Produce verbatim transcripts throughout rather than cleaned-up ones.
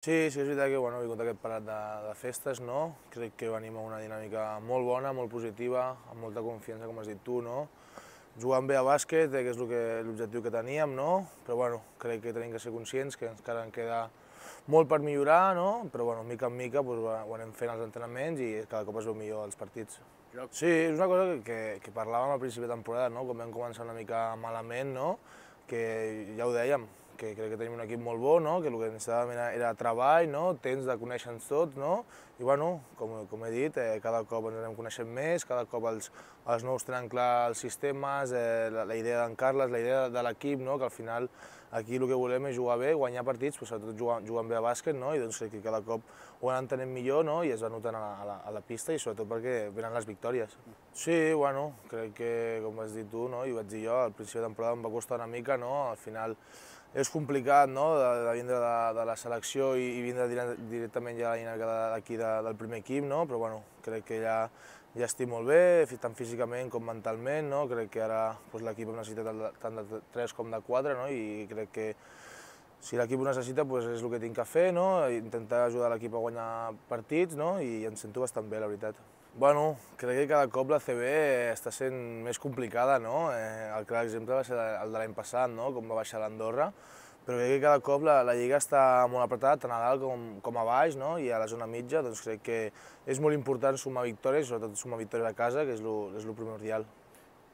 Sí, sí, és veritat que bueno, he vingut aquest parat de, de festes, no? Crec que venim a una dinàmica molt bona, molt positiva, amb molta confiança, com has dit tu, no? Jugant bé a bàsquet, eh, que és l'objectiu que teníem, no? Però bueno, crec que tenim que ser conscients que encara en queda molt per millorar, no? Però bueno, mica en mica doncs, ho anem fent als entrenaments i cada cop es veu millor als partits. Sí, és una cosa que, que parlàvem al principi de temporada, no? Com vam començar una mica malament, no? Que ja ho dèiem, que crec que tenim un equip molt bo, no? Que el que necessitàvem era, era treball, no? Temps de conèixer-nos tots, no? I bueno, com, com he dit, eh, cada cop ens anem coneixent més, cada cop els, els nous tenen clar els sistemes, eh, la, la idea d'en Carles, la idea de l'equip, no? Que al final aquí el que volem és jugar bé, guanyar partits, però sobretot jugar, jugant bé a bàsquet, no? I doncs crec que cada cop ho anem entenent millor, no? I es va notant a la, a la, a la pista i sobretot perquè venen les victòries. Sí, bueno, crec que, com has dit tu, no? I ho vaig dir jo, al principi de temporada em va costar una mica, no? Al final és complicat, no?, de, de vindre de, de la selecció i, i vindre directament ja a la dinàmica d'aquí de, del primer equip, no? Però bueno, crec que ja, ja estic molt bé, tant físicament com mentalment, no? Crec que ara doncs, l'equip necessita tant de tres com de quatre, no? I crec que si l'equip ho necessita doncs és el que tinc que fer, no? Intentar ajudar l'equip a guanyar partits, no? I em sento bastant bé, la veritat. Bueno, crec que cada cop la A C B està sent més complicada, no? Eh, el clar exemple va ser el de l'any passat, no? Com va baixar l'Andorra, però crec que cada cop la, la lliga està molt apretada, tant a dalt com, com a baix, no? I a la zona mitja, doncs crec que és molt important sumar victòries, sobretot sumar victòries a casa, que és el primordial.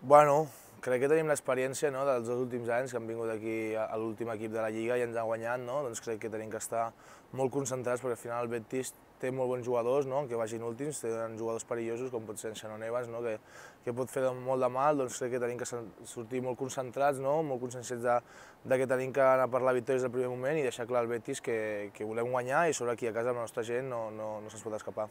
Bueno, crec que tenim l'experiència, no?, dels dos últims anys que han vingut aquí a l'últim equip de la Lliga i ens han guanyat, no? Doncs crec que tenim que estar molt concentrats perquè al final el Betis té molt bons jugadors, no?, que vagin últims, tenen jugadors perillosos com pot ser en Shannon Evans, no?, que, que pot fer molt de mal, doncs crec que tenim que sortir molt concentrats, no?, molt conscients de, de que tenim que anar per la victòria des del primer moment i deixar clar al Betis que, que volem guanyar i sobre aquí a casa la nostra gent no, no, no se'ns pot escapar.